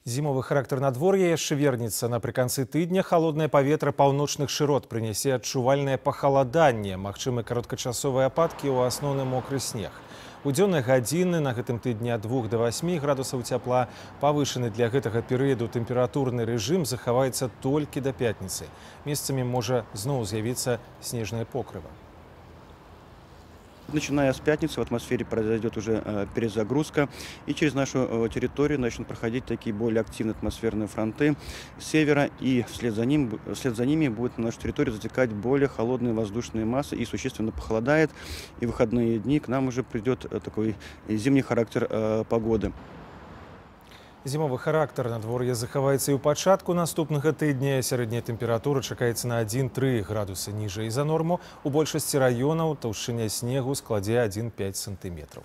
Зімовы характар надвор'я яшчэ вернецца. Напрыканцы тыдня халоднае паветра паўночных шырот прынясе адчувальнае пахаладанне, магчымы кароткачасовыя ападкі, у асноўным мокры снег. У дзённыя гадзіны на гэтым тыдні ад 2 до 8 градусаў цяпла. Павышаны для гэтага перыяду тэмпературны рэжым захаваецца толькі да пятніцы. Месцамі можа зноў з'явіцца снежнае покрыва. Начиная с пятницы в атмосфере произойдет уже перезагрузка, и через нашу территорию начнут проходить такие более активные атмосферные фронты с севера, и вслед за ними будет на нашу территорию затекать более холодные воздушные массы, и существенно похолодает, и в выходные дни к нам уже придет такой зимний характер погоды. Зімовы характар надвор'я захаваецца і ў пачатку наступнага тыдня. Сярэдняя тэмпература чакаецца на 1–3 градусы ніжэй за норму. У большасці раёнаў таўшчыня снегу складзе 1–5 сантыметраў.